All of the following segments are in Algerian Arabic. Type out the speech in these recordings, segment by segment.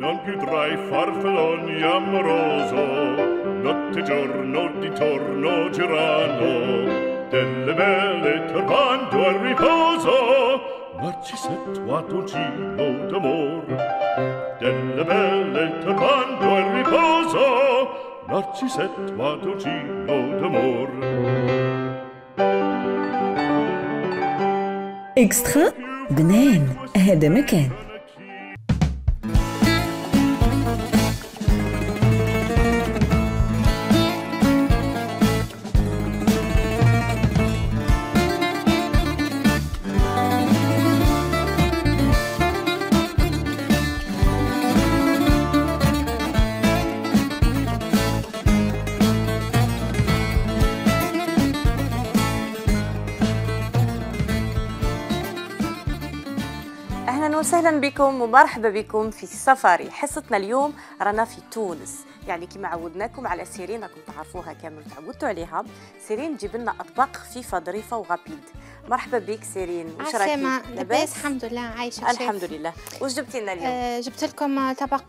non più tra i farfalloni amoroso, notte e giorno di torno girano, delle belle turbando al riposo, Narcisetto a dolcino d'amor, delle belle turbando al riposo, Narcisetto a dolcino d'amor. اكسترا بنان هذا مكان. أهلا وسهلا بكم ومرحبا بكم في سفاري. حصتنا اليوم رانا في تونس، يعني كما عودناكم على سيرين راكم تعرفوها كامل تعودتوا عليها. سيرين تجيب لنا أطباق خفيفة ظريفة وغابيد. مرحبا بك سيرين، واش راكي؟ لاباس الحمد لله، عايشة الحمد لله. واش جبتي لنا اليوم؟ جبت لكم طبق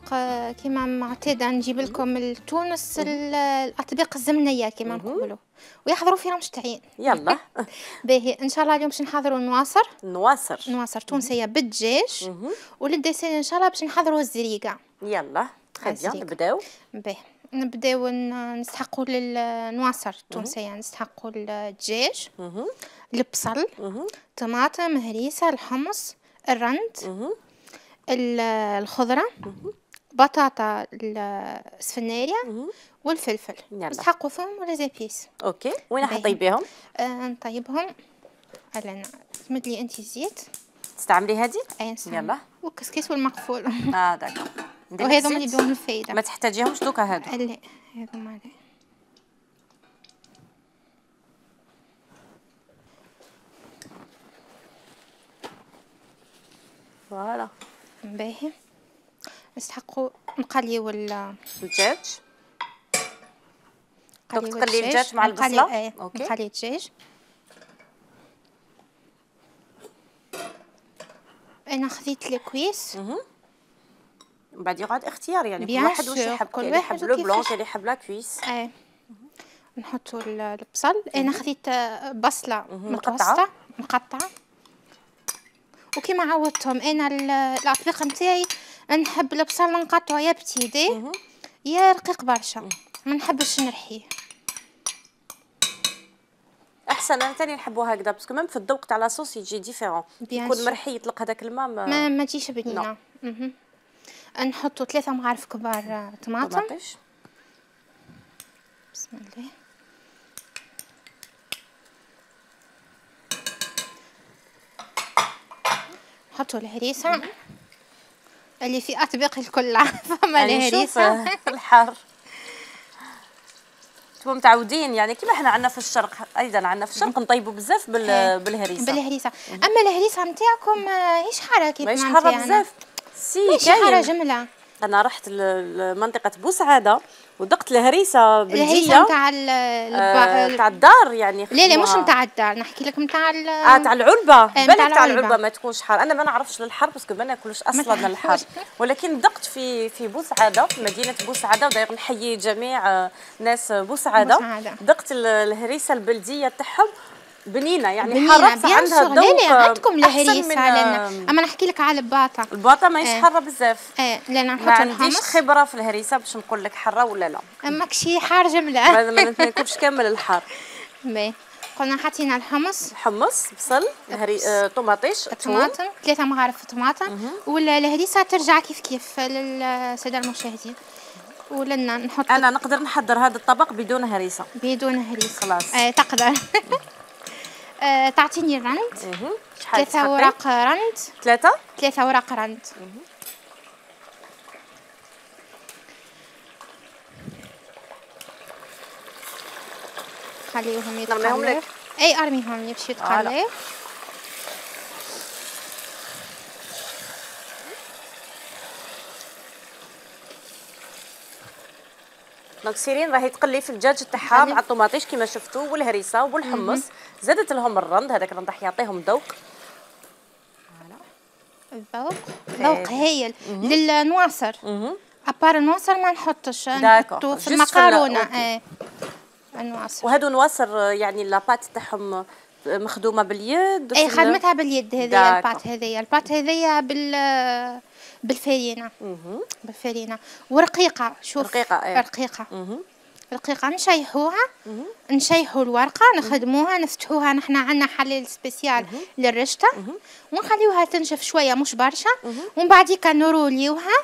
كما معتادة نجيب لكم لتونس الأطباق الزمنية كما نقولوا، ويحضروا فيها مشتعين. يلا باهي ان شاء الله اليوم باش نحضروا نواصر تونسيه بالدجاج، وللديسير ان شاء الله باش نحضروا الزريقه. يلا خلينا نبداو. باهي نبداو نستحقوا للنواصر التونسيه، نستحقوا الدجاج، البصل، طماطم، هريسه، الحمص، الرند، الخضره، بطاطا السفناريه والفلفل. نسحقوا فيهم ولا زابيس. اوكي، وين حطيبيهم؟ نطيبهم. هلا تمد لي انت الزيت. تستعملي هذه؟ اي نستعمل. يلا والكسكس والمقفول. داكور. وهذو اللي يدوم الفايده. ما تحتاجيهمش دوكا هادو؟ لا هذو ما لا. فوالا باهي. نستحقوا نقليو الدجاج. تقلي الدجاج مع البصله. اوكي نقلي الدجاج. انا خذيت الكويس. من بعد يقعد اختيار، يعني كل واحد واش يحب، اللي يحب لو بلون اللي يحب لا كويس. نحطوا البصل. انا خذيت بصله متوسطه مقطعه، وكما عودتهم انا الاطباق نتاعي نحب البصل نقطعه يا بتيدي يا رقيق برشا، ما نحبش نرحيه. احسن، انا ثاني نحبوها هكذا باسكو ميم في الذوق تاع لاصوص يجي ديفيرون، يكون مرحي يطلق هذاك الماء ما تجيش بنينه. نحطوا 3 معالق كبار طماطم. بسم الله. نحطوا الهريسه اللي في اطباق الكل. فما الهريسه الحار. انتم متعودين يعني كيما احنا عندنا في الشرق، ايضا عندنا في الشرق نطيبوا بزاف بالهريسه. اما الهريسه نتاعكم هيش حاره كيف ماهيش حاره بزاف. ماشي حاره جمله. انا رحت لمنطقه بوسعاده ودقت الهريسه بلديه. الهريسه نتاع الدار يعني. لا مش نتاع الدار، نحكي لك نتاع تاع العلبه. بالك تاع العلبه ما تكونش حار. انا ما نعرفش للحر باسكو ما ناكلش اصلا الحر، ولكن دقت في بوسعاده، في مدينه بوسعاده، وداير نحيي جميع ناس بوسعاده. دقت الهريسه البلديه تاعهم بنينه، يعني حاره عندها ذوق. عندكم الهريسه اما نحكي لك على الباطه ماهيش حاره بزاف. لا نحط ما عنديش خبره في الهريسه باش نقول لك حاره ولا لا. ماكشي حار جمله. ما ناكلش كامل الحار. قلنا حطينا الحمص، بصل، طماطيش، طماطم، 3 معالق طماطم، والهريسه ترجع كيف للساده المشاهدين. ولنا نحط. انا نقدر نحضر هذا الطبق بدون هريسه. خلاص. تقدر. تعطيني الرند. 3 اوراق رند. 3 اوراق رند. خليهم يتقلوا. اي ارميهم لي باش يتقلوا. دونك سيرين راهي تقلي في الدجاج تاعها مع الطماطيش كما شفتوا والهريسه والحمص. زادت لهم الرند، هذاك الرند راح يعطيهم ذوق. الذوق هايل للنواصر. ابار النواصر ما نحطش، نحطو في المكرونه. النواصر وهادو نواصر يعني لاباط تاعهم مخدومه باليد. خدمتها باليد هذه الباط هذيا بالفرينه. بالفرينه ورقيقه. شوف رقيقه نشيحوا الورقه، نخدموها، نفتحوها. نحنا عندنا حليل سبيسيال للرشته، ونخليوها تنشف شويه مش برشا، ومن بعديك نروليوها،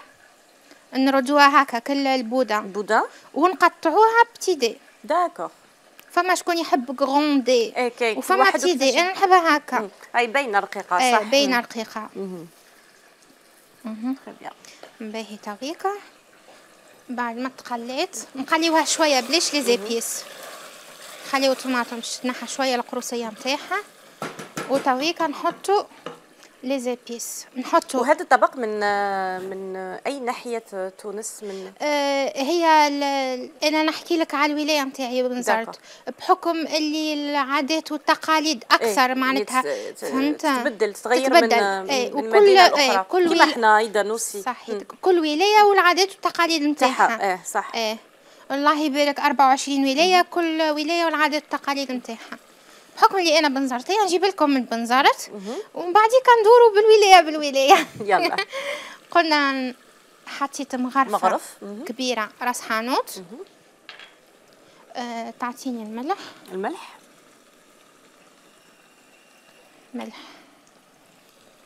نردوها هكا كل البوده ونقطعوها بتي دي. داكور. فما شكون يحب غروندي وفما بتي دي، انا نحبها هكا. اي باينه رقيقه. صح باينه رقيقه. باهي تويكا. بعد ما تقليت نقليوها شويه بلاش لي زيبيس، نخليو الطماطم تنحى شويه القروصيه نتاعها، وتويكا نحطو لي زيبيس. نحطو. وهذا الطبق من اي ناحيه تونس؟ من هي انا نحكي لك على الولايه نتاعي بنزرت، بحكم اللي العادات والتقاليد اكثر معناتها فهمت تتغير من مدينه اخرى. كيما احنا ايضا نوسي صحيح. كل ولايه والعادات والتقاليد نتاعها. صح. الله يبارك 24 ولايه، كل ولايه والعادات والتقاليد نتاعها. بحكم اللي انا بنزرتيه نجيب لكم من بنزرت، ومن بعد كندوروا بالولايه. يلا. قلنا حطيت مغرف كبيره راس حانوت. تعطيني الملح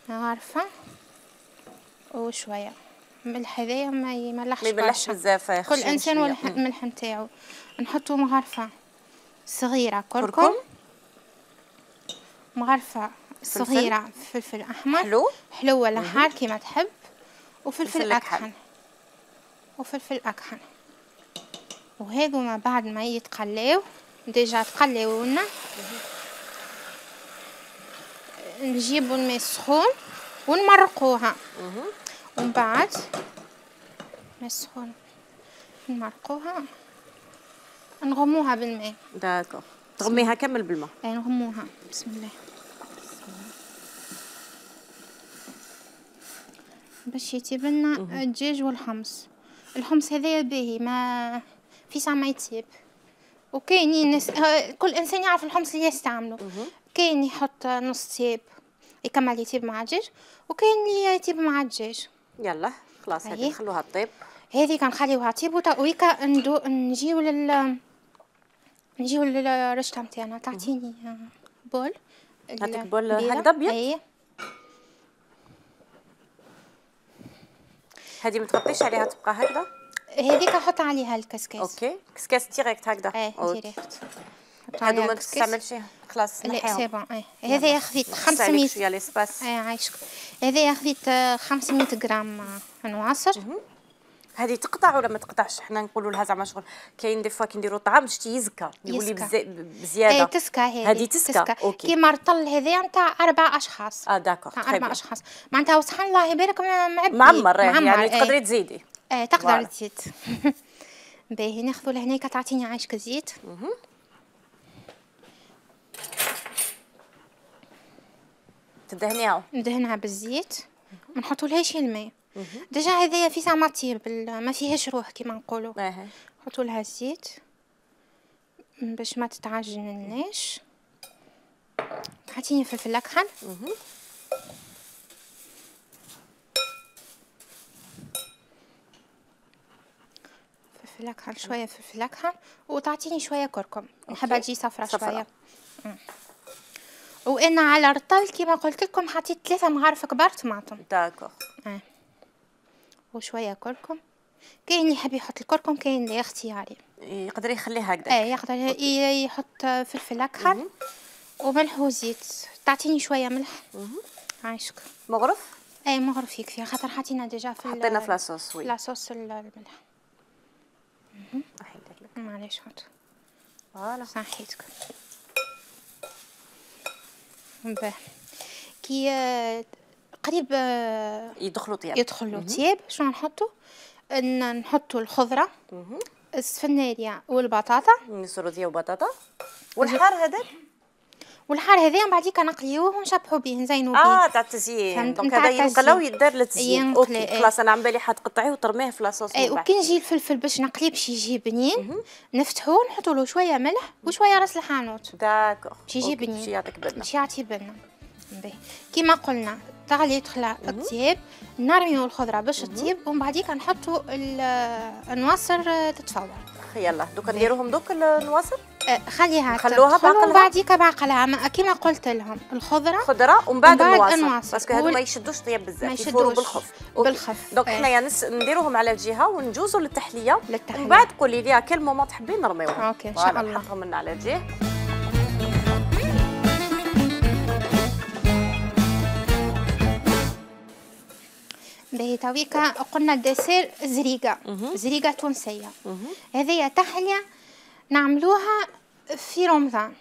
مغرفه وشويه ملح. هذايا ما يملحش بزاف، كل انسان والملح نتاعو. نحطوا مغرفه صغيره كركم، مغرفه صغيره فلفل احمر حلو ولا حار كيما تحب، وفلفل اكحل. وهذو ما بعد ما يتقلاو ديجا تقلاو لنا، نجيبوا الماء السخون ونمرقوها. ومن بعد الماء السخون نمرقوها، نغموها بالماء. داكور. تغميها كامل بالماء. نغموها. بسم الله. باش يطيب لنا الدجاج والحمص. الحمص هذايا باهي ما في ساعة ما يطيب، وكاينين ناس كل انسان يعرف الحمص اللي يستعمله. كاين يحط نص طيب يكمل يطيب مع الدجاج، وكاين اللي يطيب مع الدجاج. يلا خلاص هذه نخلوها تطيب. هذه كنخليوها تطيب ويكا نجيو للرشته نتاعنا. تعطيني بول. هاتك بول هكذا ابيض. هذه ما تغطيش عليها تبقى هكذا؟ هذيك نحط عليها الكسكاس. اوكي كسكاس ديريكت هكذا. ديريكت. هادو ما تستعملش خلاص نحيهم. لا سي بون. هذا خذيت 500 شويه ليسباس. عايشك. هذا خذيت 500 غرام نواصر. هذه تقطع ولا ما تقطعش؟ حنا نقولوا لها زعما شغل كاين دي فوا كي نديروا الطعام باش تيزكى يولي بزياده. تسكى هذه تسكى. اوكي. كيما الرطل هذايا نتاع 4 اشخاص. داكور. نتاع 4 اشخاص معناتها وسبحان الله يبارك معمر. يعني تقدري تزيدي. تقدر تزيد. باهي ناخذوا لهناك. تعطيني عايشك زيت. تدهنيها. ندهنها بالزيت، ما نحطولهاش الماء. ديجا هذايا في ساعه ما طيب ما فيهاش روح كيما نقولوا. نحطوا لها الزيت باش ما تتعجنلناش. تعطيني فلفل اكحل. فلفل اكحل شويه فلفل اكحل، وتعطيني شويه كركم. نحبها تجي صفرة شويه. وانا على الرطل كيما قلت لكم حطيت 3 مغارف كبار طماطم. داكور. وشويه كركم. كاين اللي يحب يحط الكركم، كاين اللي اختياري يقدر يخليه هكذا. يقدر يحط فلفل اكحل وملح وزيت. تعطيني شويه ملح. عايشك. مغرف. مغرف يكفي خاطر حطينا ديجا حطينا في لاصوص. وي لاصوص الملح. معليش حط. فوالا صحيتك. باه كي قريب يدخلوا طياب. شنو نحطوا؟ نحطوا الخضره، السفناريا والبطاطا. السروديه وبطاطا والحار. هذاك والحار هذايا من بعديك نقليوه ونشبحوا به نزينوا به. تاع التزيين. دونك هذا ينقلى ويدار للتزيين. اوكي خلاص انا عم بالي حتقطعيه وترميه في لاصوص. وكي نجي الفلفل باش نقليه باش يجي بنين نفتحوه نحطوا له شويه ملح وشويه راس الحانوت. داكور باش يجي بنين. باش يعطيك بنه. باش يعطي بنه. باهي كيما قلنا تغلي تخلى الطياب نرميو الخضره باش تطيب ومن بعديك نحطوا النواصر تتفور. يلا دوكا نديروهم دوك النواصر. خليها نخلوها بعقلها ومن بعديك بعقلها كيما قلت لهم خضره ومن بعد النواصر باسكو هادو ما يشدوش طياب بزاف يفوروا بالخف. دونك حنايا نديروهم على جهه ونجوزوا للتحليه ومن بعد قولي لي كل مومون تحبين نرميوهم. اوكي ان شاء الله. نحطهم لنا على جهه. باهي تويكا قلنا الدسير زريقه تونسيه. هذه تحليه نعملوها في رمضان.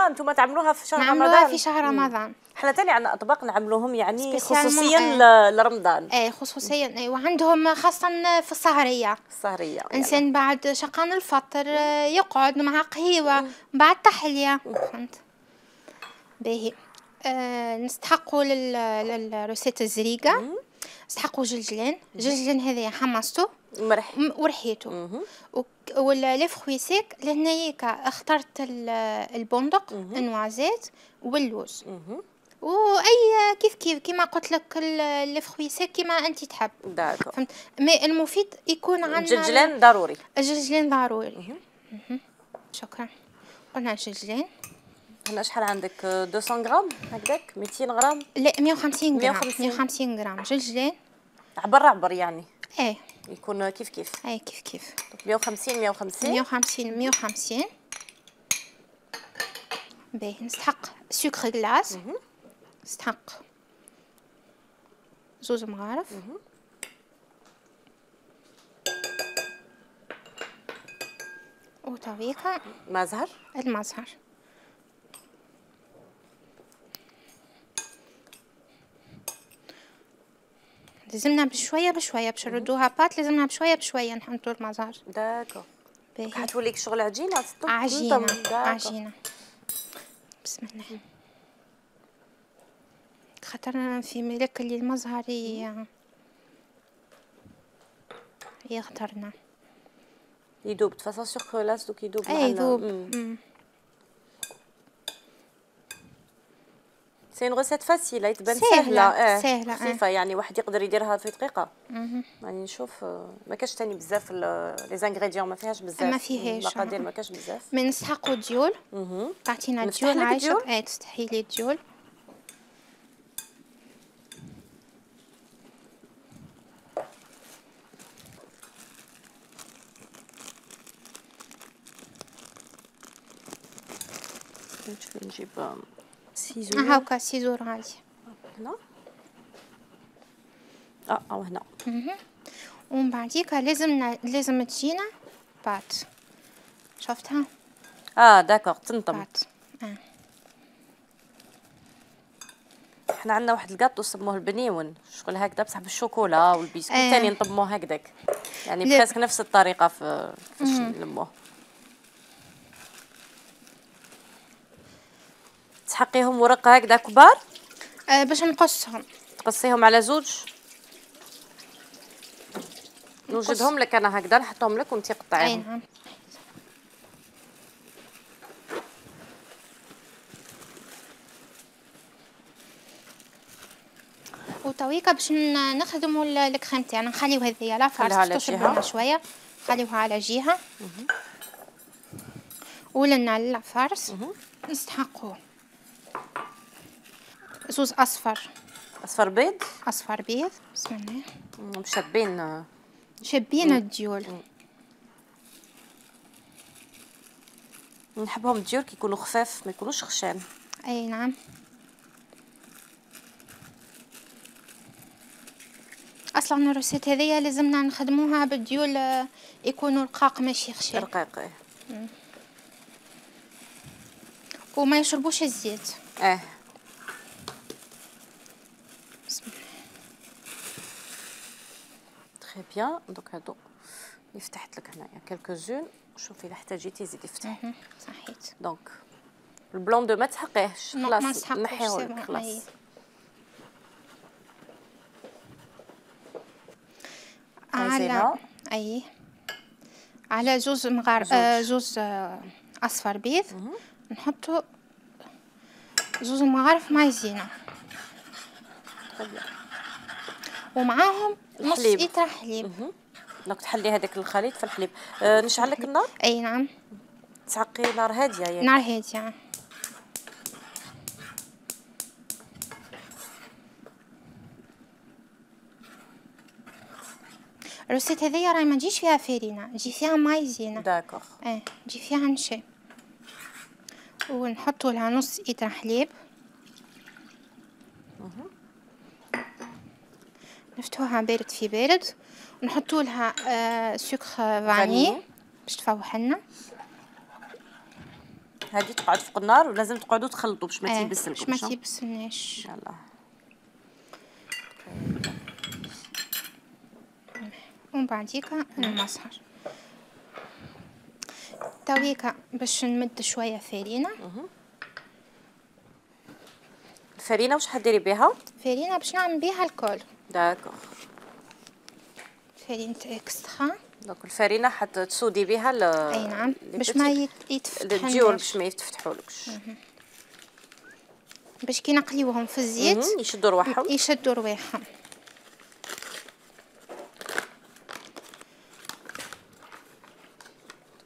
انتم تعملوها في شهر رمضان. نعملوها في شهر رمضان. حنا تاني عندنا اطباق نعملوهم يعني خصوصيا لرمضان. خصوصيا وعندهم خاصه في السهريه. انسان بعد شقان الفطر يقعد مع قهيوه بعد تحليه. فهمت. باهي نستحقوا للروسيت الزريقه نستحقوا جلجلين هذايا حمصتو ورحيته ولا فخوي سيك لهنايا اخترت البندق النوازيت واللوز واي كيف كيما قلت لك الفخوي سيك كيما انت تحب. فهمت. مي المفيد يكون عندنا الجلجلين ضروري. شكرا. قلنا الجلجلين. هنا شحال عندك 200 غرام هكذاك 200 غرام؟ لا 150 غرام جلجلين عبر يعني. يكون كيف كيف 150 باهي. نستحق سكر غلاس نستحق 2 مغارف وطريقة المزهر لازمنا بشويه باش نردوها بات لازمنا بشويه نحطوا المزهر. داكو حتوليك شغل عجينه عجينه. بسم الله. خاطر في ملك اللي المزهر يختارنا يدوب تفاصيل سكر لاس دوك يدوب معنا. يدوب. سي اون ريسيت فاسيله تبان سهله. سهله خفيفه يعني واحد يقدر يديرها في دقيقه. يعني نشوف ما كاش ثاني بزاف لي زانغريديون ما فيهاش بزاف. ما فيهاش المقادير ما كاش بزاف. من نسحقوا الديول. تعطينا الديول عايشه. تستحي لي الديول. نشوف نجيب سيزور. هاكا سيزور عادي. هنا او هنا. ومن بعديك لازم تجينا بات. شفتها؟ داكوغ تنطم. بات. احنا عندنا واحد الكاطو سموه البنيون شغل هكذا بصح بالشوكولا والبسكوت ثاني نطموه هكذاك يعني بريسك نفس الطريقه في نلموه. تحقيهم ورق هكذا كبار باش نقصهم. تقصيهم على زوج. نوجدهم لك انا هكذا نحطهم لك وانت قطعيهم. نعم. وتويكا باش نخدموا الكريم تاعنا نخليو هذيا لا فارس تشرب شويه نخليوها على جهه. ولنا لا فارس نستحقوه زوز اصفر بيض. بسم الله. شابين الديول. نحبهم الديول كيكونوا خفاف ما يكونوش خشان. اي نعم. اصلا الروسيت هذيا لازمنا نخدموها بالديول يكونوا رقاق ماشي خشان. رقيق. وما يشربوش الزيت. بسم الله. تري بيان. دونك هادو اللي فتحت لك هنايا كالكو زون. شوفي اذا احتاجيتي زيدي فتحي. صحيت. دونك البلون دو ما تحقيهش ما خلاص نسحقوش، نحيه سي لك بون، خلاص. أي. مايزينا. اي على زوز زوز اصفر بيض نحطوا زوز مغارف مايزينا ومعاهم نص الحليب. لتر حليب. دونك تحلي هذاك الخليط في الحليب. نشعل لك النار، اي نعم، تعقي نار هاديه ياك. نار هاديه. الروسيت هذيا راهي ما تجيش فيها فارينة، تجي فيها مايزينا. داكوغ. تجي فيها نشا. ونحطوا لها نص لتر حليب. نفتحوها بارد في بارد، ونحطوا لها سكر فاني باش تفوح لنا. هذه تقعد فوق النار ولازم تقعدوا تخلطوا باش ما تيبسلكمش. باش ما تيبسلناش. يلا. ومن بعديكا نمسحر تويكا باش نمد شويه فارينه. الفرينه واش حديري بها؟ فارينه باش نعمل بها الكل. داكوغ. فارينه اكسترا. دونك الفرينه حتسودي بها اي نعم باش ما يتفتحش الديول باش ما يتفتحولكش. باش كي نقليوهم في الزيت يشدوا رواحهم. يشدوا رواحهم.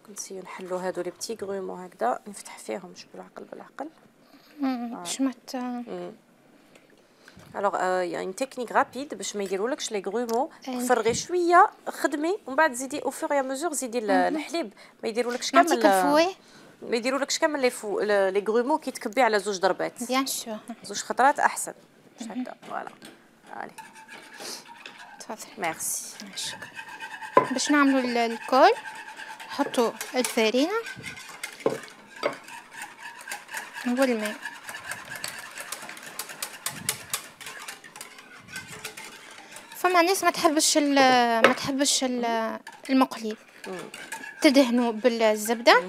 نسيو نحلو هادو لي بتي غرومو هكذا، نفتح فيهم شوف بالعقل بالعقل باش ما الوغ يعني تكنيك رابيد باش ما يديرولكش لي غرومو. فرغي شويه خدمي ومن بعد زيدي او فور يا مزور زيدي الحليب. ما يديرولكش كامل ما يديرولكش كامل لي غرومو كي تكبي على زوج ضربات. بيان سور زوج خطرات احسن. هكذا فوالا. علي تفضل. ميرسي. شكرا. باش نعملوا الكل نحطوا الفارينه والماء. فما ناس ما تحبش المقلي، تدهنوا بالزبده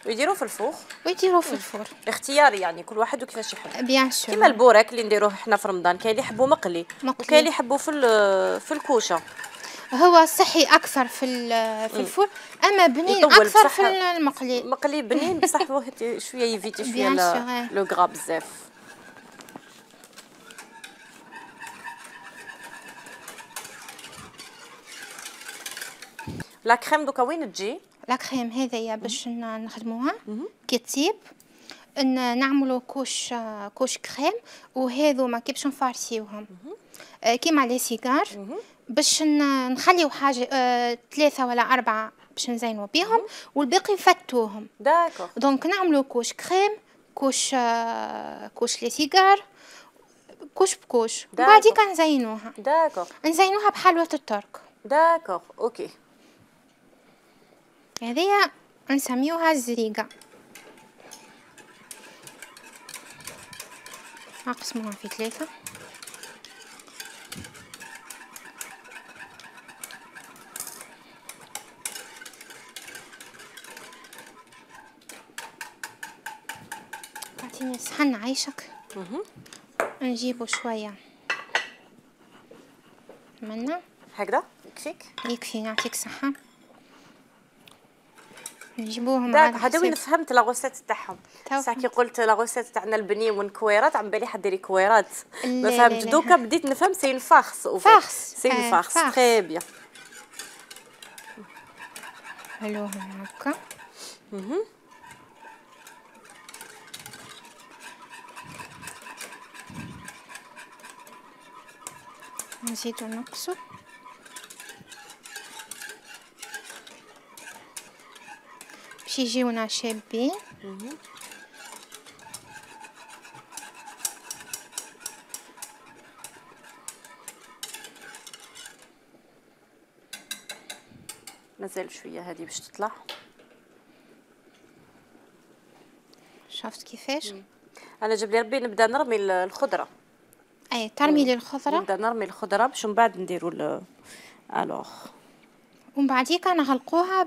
ويديروه في الفوق ويديروه في الفرن. اختياري يعني كل واحد وكيفاش يحب. بيان سور. كيما البوراك اللي نديروه احنا في رمضان، كاين اللي يحبوا مقلي وكاين اللي يحبوا في الكوشه. هو صحي اكثر في الفرن، اما بنين اكثر في المقلي. مقلي بنين بصح شويه يفيتي شويه لو غرا بزاف. لا كريم دوكا وين تجي؟ لا كريم هذيا باش نخدموها كي تطيب نعملوا كوش كريم، وهذوما كي باش نفارسيوهم كيما لي سيجار باش نخليو حاجه 3 ولا 4 باش نزينوا بيهم والباقي نفتوهم. داكوغ. دونك نعملوا كوش كريم، كوش لي سيجار، كوش بكوش، بعديك نزينوها. داكوغ. نزينوها بحلوه الترك. داكوغ اوكي. هذيا نسميوها الزريقه. نقسموها في 3. اعطيني صحن عيشك. نجيبو شويه منا هكذا يكفيك؟ يكفي، نعطيك صحه. نجيبوهم على هذا وين فهمت لا غوسيت تاعهم. صح كي قلت لا غوسيت تاعنا البنين والكويرات عم بالي حديري كويرات ما فهمت. دوكا بديت نفهم سي اون فارس او فارس. سي اون فارس تري بيان. حلوهم هكا. نزيدو نقصو. باش يجيونا شابين. مازال شويه هذه باش تطلع. شفت كيفاش؟ انا جاب لي ربي نبدا نرمي الخضره. اي ترمي لي الخضره. نبدا نرمي الخضره باش من بعد نديروا الوغ. ومن بعديك نغلقوها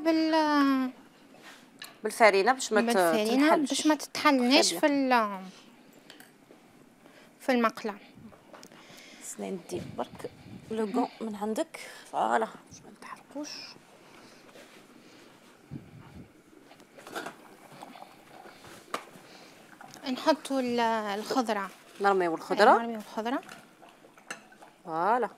بالفرينه باش ما تتحلناش في المقله. ندي برك لو غون من عندك فوالا باش ما نتحرقوش. نحطوا الخضره، نرميو الخضره فوالا.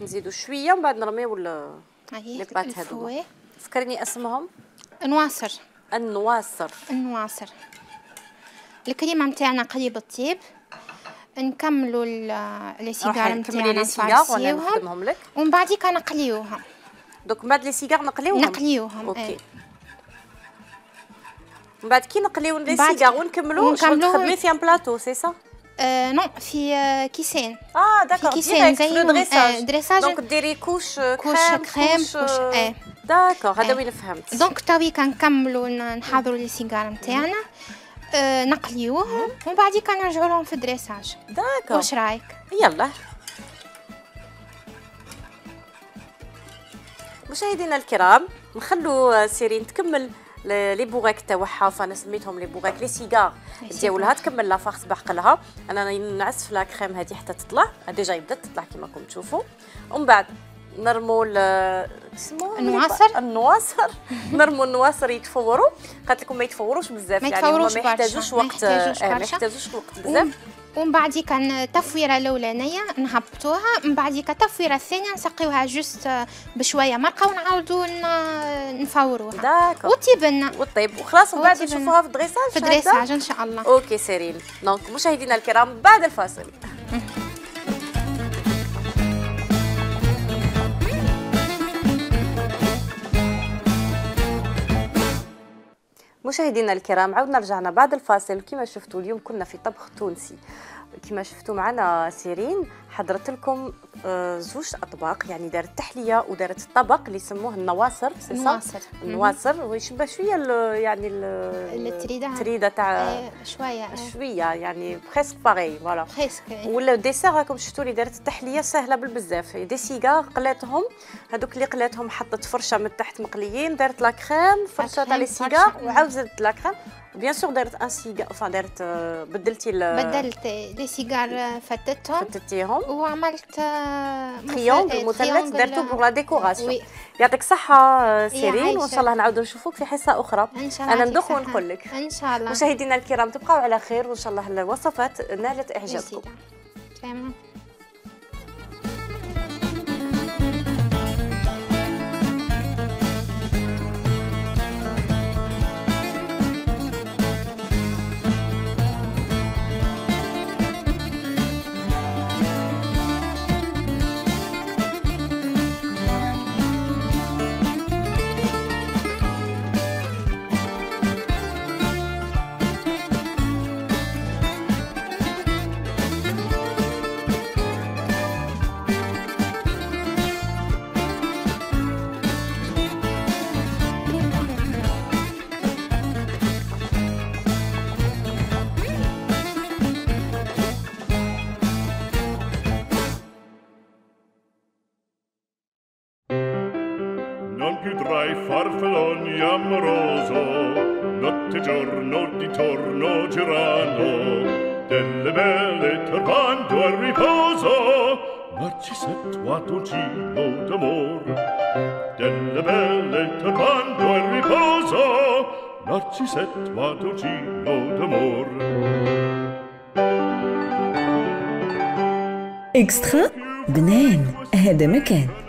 نزيدوا شويه ومن بعد نرميو لي بات هذوما. فكرني اسمهم. النواصر. الكريمه نتاعنا قريب الطيب. نكملوا لي سيجار نتاعنا نفرسيوهم ومن بعديك نقليوهم. دوك من بعد لي سيجار نقليوهم. اوكي. من بعد كي نقليو لي سيجار ونكملوا تخدمي في ان بلاطو سي سا؟ نو في كيسان. داكور. كيسان زي دريساج. دونك ديري كوش كريم داكور. هذا وين فهمت. دونك تاوي كنكملوا نحضروا لي سيجار نتاعنا نقليوهم ومن بعد كنرجعوا لهم في الدريساج. داكور. واش رايك؟ يلا مشاهدينا الكرام نخلو سيرين تكمل لي بوغاك تاعها. فانا سميتهم لي بوغاك لي سيجار ديالها تكمل لا فارس بحقلها. انا نعس في لا كريم هذه حتى تطلع. ديجا بدات تطلع كما راكم تشوفوا. ومن بعد نرموا النواصر نرموا النواصر يتفوروا. قالت لكم ما يتفوروش بزاف يعني هما ما يحتاجوش وقت بزاف. ومن بعد كان تفويره الاولانيه نهبطوها. من بعد تفويره الثانيه نسقيوها جوست بشويه مرقه ونعاودوا نفوروها. داكور. وطيب وخلاص. ومن بعد نشوفوها في الدريساج ان شاء الله. اوكي سيرين. دونك مشاهدينا الكرام بعد الفاصل. مشاهدينا الكرام عاودنا رجعنا بعد الفاصل. كما شفتوا اليوم كنا في طبخ تونسي. كما شفتوا معنا سيرين حضرت لكم زوج اطباق يعني دارت تحليه ودارت الطبق اللي يسموه النواصر. النواصر ويشبه شويه يعني التريده تاع شويه يعني بريسك باغي فوالا. ولا الديسير راكم شفتوا لي دارت التحليه سهله بالبزاف. دي سيجار قلاتهم هذوك اللي قلاتهم حطت فرشه من تحت مقليين. دارت لا كريم فرشه تاع لي سيجار وعاوزت لا كريم. بيان سور دارت ان سيجار دارت بدلت لي سيجار فتتيهم وعملت تريونغل مثلث درتو بور لا ديكوراسيون. يعطيك الصحه سيرين وان شاء الله نعاودوا نشوفوك في حصه اخرى. انا ندوق ونقول لك ان شاء الله. مشاهدينا الكرام تبقاو على خير وان شاء الله الوصفات نالت اعجابكم. Farfalloni amoroso, notte giorno di torno girano, delle belle turbando al riposo, Narcisetto Adolcino d'amor. Delle belle turbando al riposo, Narcisetto Adolcino d'amor. اكسترا بنان هذا مكان.